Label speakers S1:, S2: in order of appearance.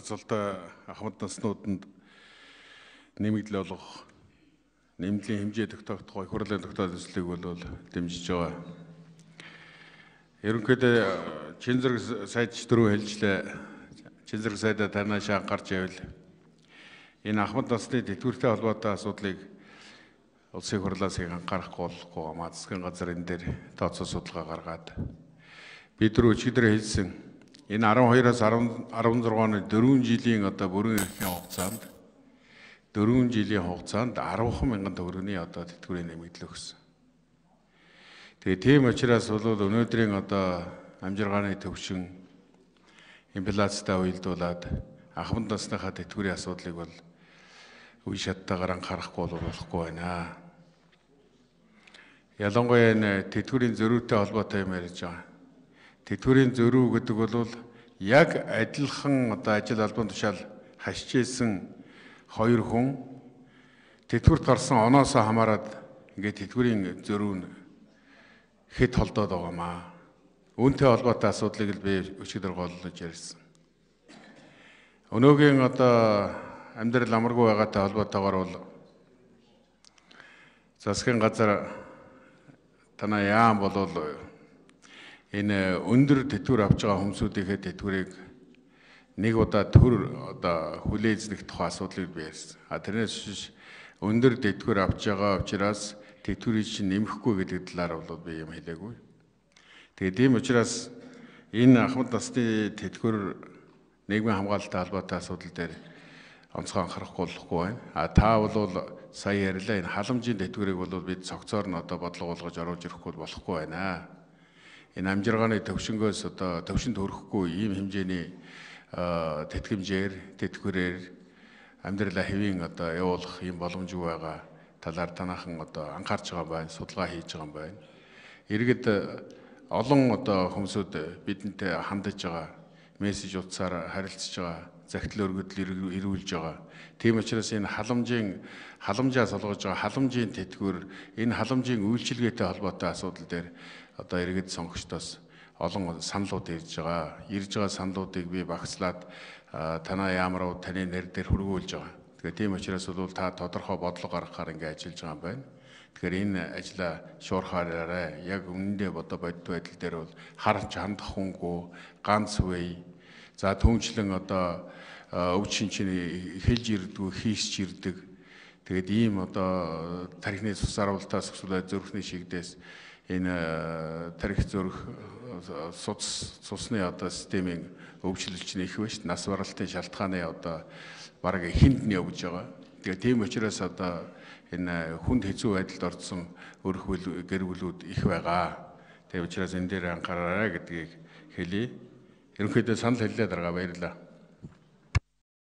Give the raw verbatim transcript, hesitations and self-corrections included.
S1: Золтой ахмад наснууданд нэмэгдэл олгох нэмлийн хэмжээ тогтоогдох гой хурлын тогтоох төслийг бол дэмжиж байгаа. Ерөнхийдөө чин зэрэг сайдч дөрөв хэлжлээ. Чин зэрэг сайдаа танаас анхаарч байвал энэ ахмад насны тэтгэвртэй холбоотой асуудлыг улсын хурлаас их анхаарахгүй болохгүй гамаа засгийн газар энэ дээр тооцоо судалгаа гаргаад бид нар өчигдөр хэлсэн энэ арван хоёроос арван зураг оны дөрвөн жилийн одоо бүрэн эрхийн хугацаанд дөрвөн жилийн хугацаанд арван мянган төгрөгийн одоо тэтгэврийн нэмэгдэл өгсөн. Тэгээ тийм учраас бол өнөөдрийн одоо амжиргааны төвшин инфляцтай уялдуулаад ахмад насныхаа тэтгэврийн асуудлыг бол үе шаттайгаар анхаарахгүй болохгүй байна. Ялангуяа энэ тэтгэврийн зөрүүтэй холбоотой юм ярьж байгаа. Тэтгэврийн зөрүү гэдэг бол яг адилхан одоо ажил албан тушаал хашижсэн хоёр хүн тэтгэврт гарсан оноосоо хамаарад ингээд тэтгэврийн зөрүү нь хэд холдоод байгаамаа. Үүнтэй холбоотой асуудлыг л би өчигдөр голлож ярьсан. Өнөөгийн одоо амьдрал амаргүй байгаатай холбоотойгоор бол засгийн газар танаа яам болов энэ өндөр тэтгэвэр авч байгаа хүмүүсийнхээ тэтгэврийг нэг удаа төр одоо хүлээзлэх тухай асуудлыг би ярьсан. А тэрнээс биш өндөр тэтгэвэр авч байгаа учраас тэтгэврийг чинь нэмэхгүй гэдэг талаар бол би юм хэлээгүй. Тэгээд тийм учраас энэ ахмад насны тэтгэвэр нийгмийн хамгаалалттай холбоотой асуудал дээр онцгой анхаарахгүй болохгүй байна. А та бол сая ярьлаа энэ халамжийн тэтгэврийг бол бид цогцоор нь одоо бодлого болгож оруулж ирэхгүй болохгүй байна. Энэ амжиргааны төвшнгөөс одоо төвшөнд хүрэхгүй ийм хэмжээний тэтгэмжээр тэтгэврээр амьдралаа хэвийн одоо явуулах ийм боломжгүй байгаа талаар танаахан одоо анхаарч байгаа байна, судалгаа хийж байгаа байна. Иргэд олон одоо хүмүүсүүд бидэнтэй хандаж байгаа, мессеж утсаар харилцаж байгаа, захидал өргөдөл ирүүлж байгаа. Тийм учраас энэ халамжийн халамжаас олгож байгаа халамжийн тэтгэвэр, энэ халамжийн үйлчилгээтэй холбоотой асуудал дээр одоо иргэд сонгогчдоос олон саналууд ирж байгаа. Ирж байгаа саналуудыг би багслаад танаа яамруу таны нэр дээр хүргүүлж байгаа. Тэгэхээр тийм учраас бол та тодорхой бодлого гаргахаар ингэ ажиллаж байгаа юм байна. Тэгэхээр энэ ажлаа шуурхаараарай. Яг үнэндээ бодо бодит байдал дээр бол харж хандах хүнгүй ганц үе. За түүнчлэн одоо өв шинчний хэлж ирдгүү хийсч ирдэг. Тэгээд ийм одоо тархины цус аруултаас эсвэл зүрхний шигдээс энэ тарих зүрх цус цусны одоо системийн өвчлөлч нь их биш. Нас баралтын шалтгааны одоо бараг эхэнд нь явж байгаа. Тэгээд тийм учраас одоо энэ хүнд хэцүү байдалд орсон өрх гэр бүлүүд их байгаа. Тэгээд учраас энэ дээр анхаараарай гэдгийг хэлье. Ерөнхийдөө санал хэллээ дарга баярлалаа.